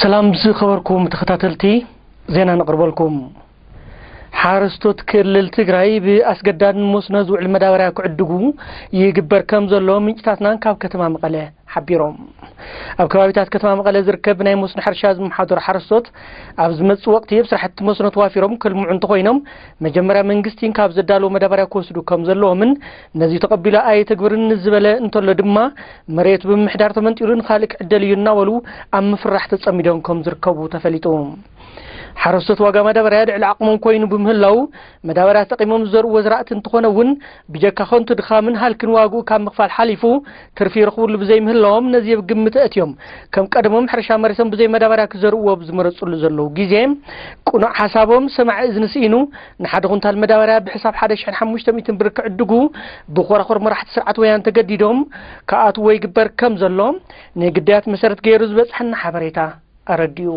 ሰላም ዝኸበርኩም ተኸታተልቲ፣ ዜና ነቕርበልኩም። ሓረስቶት ክልል ትግራይ ብኣስገዳድ መስኖ ዝውዕል መዳበርያ ክዕድጉ ይግበር ከም ዘሎ ምንጭታትና ካብ ከተማ መቐለ ሓቢሮም። ኣብ ከባቢታት ከተማ መቐለ ዝርከብ ናይ መስኖ ሕርሻ ዝመሓደሩ ሓረስቶት ኣብ ዝመጽእ ወቕቲ ኣብ ስራሕቲ መስኖ ተዋፊሮም ክልምዑ እንተኾይኖም፣ መጀመርያ መንግስቲ ካብ ዘዳለዎ መዳበርያ ክወስዱ ከም ዘለዎምን ነዚ ተቐቢሉ ኣየተግብርን ዝበለ እንተሎ ድማ፣ መሬት ብምሕዳር ተመንጢሉ ንኻልእ ክዕደል እዩ እናበሉ ኣብ ምፍራሕ ተጸሚዶም ከም ዝርከቡ ተፈሊጡ። ሓረስቶት ዋጋ ማዳበርያ ልዕሊ ዓቕሞም ኮይኑ ብምህላው፣ መዳበርያ ተጠቒሞም ዝዘርእዎ ዝራእቲ እንተኾነ እውን፣ ብጀካ ከንቱ ድኻምን ሃልክን ዋግኡ ካብ ምኽፋል ሓሊፉ ትርፊ ይረኽብሉ ብዘይምህላዎም፣ ነዚ ኣብ ግምት ኣእትዮም ከም ቀደሞም ሕርሻ መሬቶም ብዘይ መዳበርያ ክዘርእዎ ኣብ ዝመረጽሉ ዘለዉ ግዜ፣ ቅኑዕ ሓሳቦም ሰማዒ እዝኒ ስኢኑ፣ ንሓደ ኩንታል መዳበርያ ብሕሳብ ሓደ ሽሕን ሓሙሽተ ሚእትን ብር ክዕድጉ ብኮራኹር መራሕቲ ስርዓት ወያነ ተገዲዶም ክኣትዎ ይግበር ከም ዘሎ ንግዳያት መሰረት ገይሩ ዝበጽሐና ሓበሬታ ኣረዲኡ።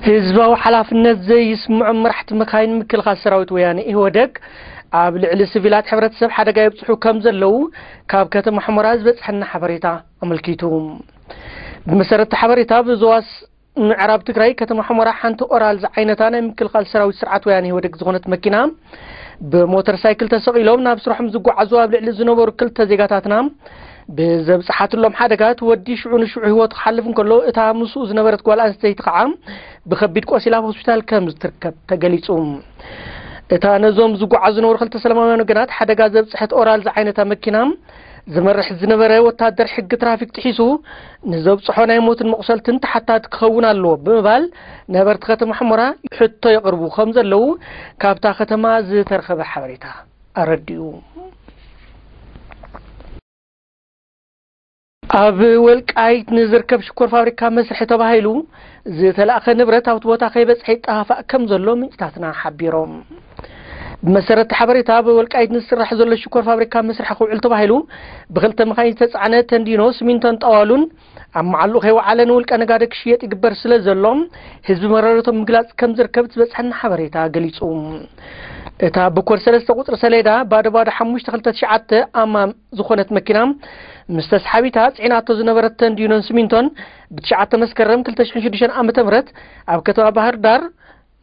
ህዝባዊ ሓላፍነት ዘይስምዖም መራሕቲ መካይን ምክልኻል ሰራዊት ወያነ ኢህወደግ ኣብ ልዕሊ ሲቪላት ሕብረተሰብ ሓደጋ የብፅሑ ከም ዘለዉ ካብ ከተማ ሑመራ ዝበፅሐና ሓበሬታ ኣመልኪቱ። ብመሰረት እቲ ሓበሬታ፣ ብዞባ ምዕራብ ትግራይ ከተማ ሑመራ ሓንቲ ኦራል ዝዓይነታ ናይ ምክልኻል ሰራዊት ስርዓት ወያነ ኢህወደግ ዝኾነት መኪና ብሞተር ሳይክል ተሰቒሎም ናብ ስራሖም ዝጓዓዙ ኣብ ልዕሊ ዝነበሩ ክልተ ዜጋታትና ብዘብፅሓትሎም ሓደጋ፣ እቲ ወዲ ሽዑ ንሽዑ ህይወቱ ክሓልፍ እንከሎ፣ እታ ምስኡ ዝነበረት ጓል ኣንስተይቲ ከዓ ብኸቢድ ቆሲላ ኣብ ሆስፒታል ከም ዝትርከብ ተገሊጹ። እታ ነዞም ዝጓዓዙ ዝነበሩ ክልተ ሰላማውያን ወገናት ሓደጋ ዘብፅሐት ኦራል ዝዓይነታ መኪና ዝመርሕ ዝነበረ ወታደር ሕጊ ትራፊክ ጥሒሱ ንዘብፅሖ ናይ ሞትን መቑሰልትን ተሓታቲ ክኸውን ኣለዎ ብምባል ነበርቲ ከተማ ሑመራ ሕቶ የቕርቡ ከም ዘለዉ ካብታ ከተማ ዝተረኸበ ሓበሬታ ኣረዲኡ። ኣብ ወልቃይት ንዝርከብ ሽኮር ፋብሪካ መስርሒ ተባሂሉ ዝተላእኸ ንብረት ኣብቲ ቦታ ከይበጽሐ ይጠፋፋእ ከም ዘሎ ምንጭታትና ሓቢሮም። ብመሰረት እቲ ሓበሬታ፣ ኣብ ወልቃይት ንዝስራሕ ዘሎ ሽኮር ፋብሪካ መስርሒ ክውዕል ተባሂሉ ብክልተ መኻይን ዝተጻዕነ ተንዲኖ፣ ሲሚንቶን ጠዋሉን ኣብ መዓልኡ ከይወዓለ ንውልቀ ነጋዶ ክሽየጥ ይግበር ስለ ዘሎ፣ ህዝቢ መረረቶም ምግላጽ ከም ዝርከብ ዝበጽሐና ሓበሬታ ገሊጹ። እታ ብኮድ ሰለስተ ቁጽሪ ሰሌዳ ባዶ ባዶ ሓሙሽተ ክልተ ትሽዓተ ኣማም ዝኾነት መኪና ምስ ተስሓቢታ ጽዒናቶ ዝነበረት ተንዲኖን ሲሚንቶን ብትሽዓተ መስከረም ክልተ ሽሕን ሽዱሽተን ዓመተ ምህረት ኣብ ከተማ ባህር ዳር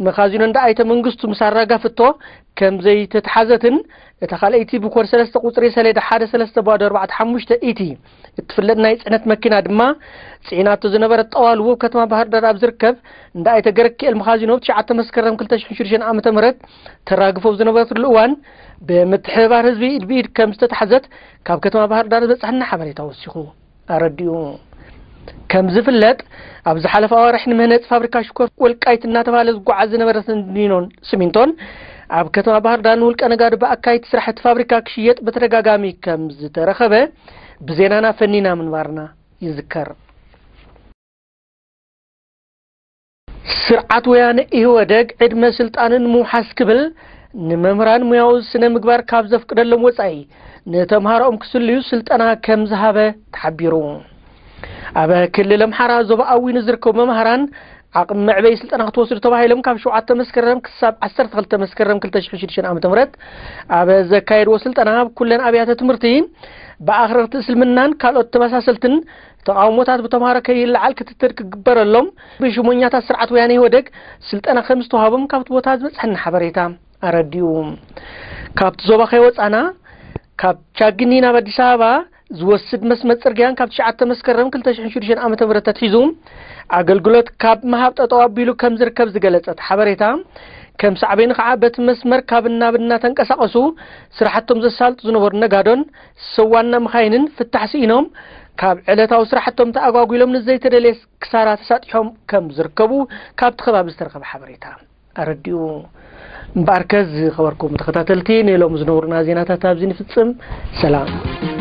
መኻዚኖ እንዳ ኣይተ መንግስቱ ምስ ኣራጋፍቶ ከም ዘይተትሓዘትን፣ እታ ካልኣይቲ ብኮድ ሰለስተ ቁጽሪ ሰሌዳ ሓደ ሰለስተ ባዶ ኣርባዕተ ሓሙሽተ ኢቲ እትፍለጥ ናይ ጽዕነት መኪና ድማ ጽዒናቶ ዝነበረት ጠዋሉ ኣብ ከተማ ባህር ዳር ኣብ ዝርከብ እንዳ ኣይተ ገረኪኤል መኻዚኖ ብትሽዓተ መስከረም ክልተ ሽሕን ሽዱሽተን ዓመተ ምህረት ተራግፎ ኣብ ዝነበረትሉ እዋን ብምትሕብባር ህዝቢ ኢድ ብኢድ ከም ዝተታሕዘት ካብ ከተማ ባህር ዳር ዝበጽሐና ሓበሬታ ወሲኹ ኣረዲኡ። ከም ዝፍለጥ፣ ኣብ ዝሓለፈ ኣዋርሕ ንምህነፂ ፋብሪካ ሽኮር ወልቃይት እናተባሃለ ዝጓዓዝ ዝነበረ ተንዲኖን ሲሚንቶን ኣብ ከተማ ባህር ዳር ንውልቀ ነጋዶ ብኣካየድቲ ስራሕቲ ፋብሪካ ክሽየጥ ብተደጋጋሚ ከም ዝተረኸበ ብዜናና ፈኒና ምንባርና ይዝከር። ስርዓት ወያነ ኢህወደግ ዕድመ ስልጣንን ምውሓስ ክብል ንመምህራን ሙያዊ ስነ ምግባር ካብ ዘፍቅደሎም ወጻኢ ንተምሃሮኦም ክስልዩ ስልጠና ከም ዝሃበ ተሓቢሩ። ኣብ ክልል ኣምሓራ ዞባ ኣዊ ንዝርከቡ መምህራን ዓቕሚ መዕበይ ስልጠና ክትወስዱ ተባሂሎም ካብ ሸውዓተ መስከረም ክሳብ ዓሰርተ ክልተ መስከረም ክልተ ሽሕን ሽዱሽተን ዓመተ ምህረት ኣብ ዘካየድዎ ስልጠና፣ ኣብ ኩለን ኣብያተ ትምህርቲ ብኣኽረርቲ እስልምናን ካልኦት ተመሳሰልትን ተቓውሞታት ብተምሃሮ ከይለዓል ክትትል ክግበረሎም ብሽሞኛታት ስርዓት ወያነ ኢህወደግ ስልጠና ከም ዝተዋሃቦም ካብቲ ቦታ ዝበጽሐና ሓበሬታ ኣረዲኡ። ካብቲ ዞባ ከይወጻና፣ ካብ ቻግኒ ናብ ኣዲስ ኣበባ ዝወስድ መስመር ጽርግያን ካብ ትሽዓተ መስከረም ክልተ ሽሕን ሽዱሽተን ዓመተ ምህረት ኣትሒዙ ኣገልግሎት ካብ ምሃብ ጠጠው ኣቢሉ ከም ዝርከብ ዝገለጸ እቲ ሓበሬታ፣ ከም ሳዕቤኑ ከዓ በቲ መስመር ካብ ናብ እናተንቀሳቐሱ ስራሕቶም ዘሳልጡ ዝነበሩ ነጋዶን ሰብ ዋና መኻይንን ፍታሕ ስኢኖም ካብ ዕለታዊ ስራሕቶም ተኣጓጒሎም ንዘይተደልየ ክሳራ ተሳጢሖም ከም ዝርከቡ ካብቲ ከባቢ ዝተረኸበ ሓበሬታ ኣረዲኡ። እምበኣርከ ዝኸበርኩም ተኸታተልቲ፣ ንሎም ዝነበሩና ዜናታት ኣብዚ ንፍጽም። ሰላም።